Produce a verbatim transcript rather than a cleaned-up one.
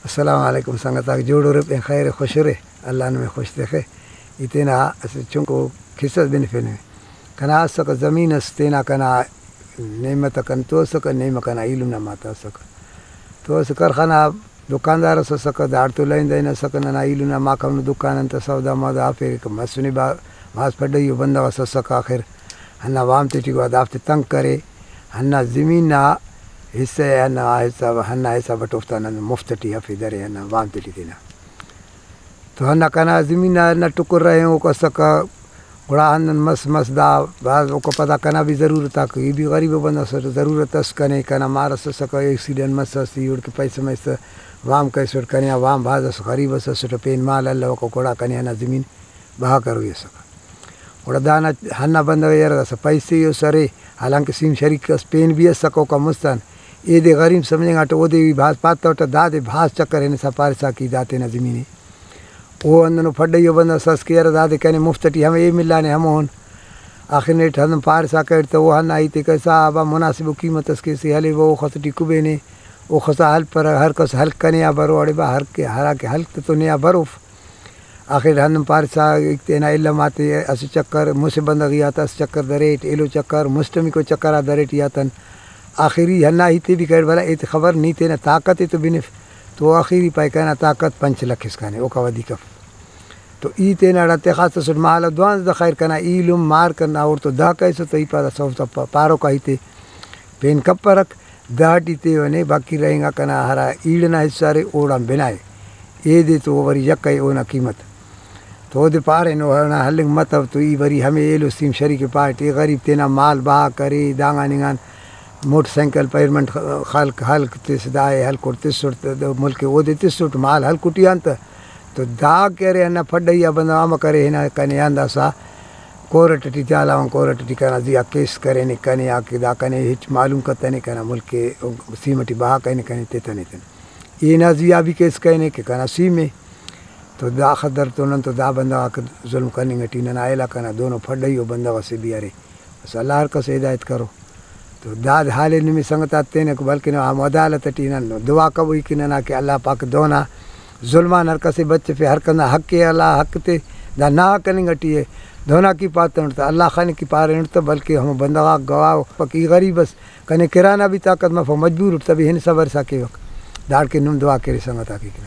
السلام علیکم سنگتاک، جوڑ ارے، پین خیر خوش ارے، اللہ نمے خوش تخے۔ ای تینا اسہ چنکو قصہ اس بنفینے۔ کنا اسکہ زمین اس تینا، کنا نیمہ تا کن تو اسکہ، نیمہ کنا ایلم نا ماتا اسکہ۔ تو اسہ کرخانہ دکاندار اس اسکہ، داڑتو لائن دائن اسکہ، ننا ایلم نا ماک ہمو دکان آن تہ سودا مودا ہرفیرکہ، مسنے با-، بھاز پڈہیو بندغ اس اسکہ۔ آخر ہندا وام تیٹی گڑا دافتے تنگ کرے، ہندا زمین نا حصہ ءِ ہندا حساب، ہندا حساب اٹ اوفتا نن مفت ٹی ہرفے درے ہندا وام تیٹی تینا۔ تو ہندا کنا زمین نا ہندا ٹکر رہینگوک اسکہ، گڑا ہندن مس مس دا بھاز اوکا پدا کنا بھی ضرورت آک، ای بھی غریب بندغ اسٹ، ضرورت اس کنے، کنا مار اس اسکہ، ایکسیڈنٹ مسس، ای اوڑکہ پیسہ مریسہ وام کریسٹ، کنے آ وام بھاز اس، غریب اس اسٹ، پین مال الوکہ، گڑا کنے ہندا زمین بہا کروئی اسکہ۔ گڑا دانا ہندا بندغ یار داسہ پیسے اس ارے، حالانکہ سیم شریک اس پین بھی اسکہ اوکان مست آن۔ ایدے غریب سمجھنگاٹہ، اودے بھی بھاز پاتوٹہ، دادے بھاز چکر ہنسا پارسا کہ دا تینا زمین ءِ۔ او ہندنو پھڈئیو بندغ اس کہ یار دادے کنے مفت ٹی ہمے اے ملانے ہمون۔ آخر نیٹ ہندن پارسا کریر تہ او ہندا ہیتے کہ صاحب آ مناسب ءُ قیمت اس کیسے ہلیوہ، اوخس ٹی کبینے، اوخسا ہلپرہ، ہر کس ہلک کنے آ برو، اڑے با ہر کہ ہرا کہ ہلک تہ تو نے آ بروف۔ آخر ہندن پارسا تینا علم آتے اسہ چکر، مسہ بندغی آتا اسہ چکر دریٹ، ایلو چکر، مسٹمیکو چکر آ دریٹ ای آتن۔ آخری ہندا ہیتے بھی کریر، بھلا ایتے خبر نی تینا طاقت ءِ تو بنف، تو آخری پائے کنا طاقت پنچ لکھ اسکانے، اوکا ودیک اف۔ تو ای تینا ہڑا تخاس تسٹ مال دوانزدہ، خیر کنا ایلم مار کنا اوڑتو دہ کریسہ تو ای پادا سوب تا پا-، پاروکا ہیتے پین کپرک۔ دہ ٹی تیوہ نے، باقی رہینگا کنا ہرا ایڑ ئنا حصہ ارے اوڑان بنائے، ایدے تو وری یکہ ءِ اونا قیمت۔ تو اودے پارینو ہندا ہلنگ متو تو ای وری ہمے ایلو سیم شریک ءِ پاٹ، ای غریب تینا مال بہا کرے، دانگان انگان موٹر سائیکل پیمنٹ خلک ہلک تس، دائے ہلکوٹ تسٹ تہ ملک ءِ اودے تسٹ مال ہلکٹی آن تہ۔ تو دا کہ ارے ہندا پھڈئی آ بندغ امر کرے ہنا کنے آن داسہ کورٹ ٹی چالاوان، کورٹ ٹی کنا زی آ کیس کرینے کنے آ کہ دا کنے ہچ معلوم کتنے کنا ملک ءِ سیم ٹی بہا کرینے کنے تتنے تنے۔ ای نا زی آ بھی کیس کرینے کہ کنا سیم ءِ۔ تو دا خدر تو نن تو دا بندغ آک ظلم کننگ ٹی ننا علاقہ نا دونو پھڈئی ءُ بندغ اسے بھی ارے۔ بس اللہ ہر کس ءِ ہدایت کرو۔ تو دا حال ءِ نمے سنگت آتے تینکو، بلکن ہمو عدالت ٹی نن دعا کبوئی کہ ننا کہ اللہ پاک دونا ظلم آن ہر کس ءِ بچفے، ہر کنا حق ءِ، اللہ حق تے دا ناحق کننگ ٹی ءِ۔ دونا کی پاتنٹ تہ اللہ خان کی پارینٹ تہ، بلکہ ہمو بندغ آک گواہ ءُ کہ ای غریب اس، کنے کرا نا بھی طاقت مفو، مجبور اٹ تہ بھی ہن صبر سا کیوک۔ داڑکن نم دعا کرے سنگت آک۔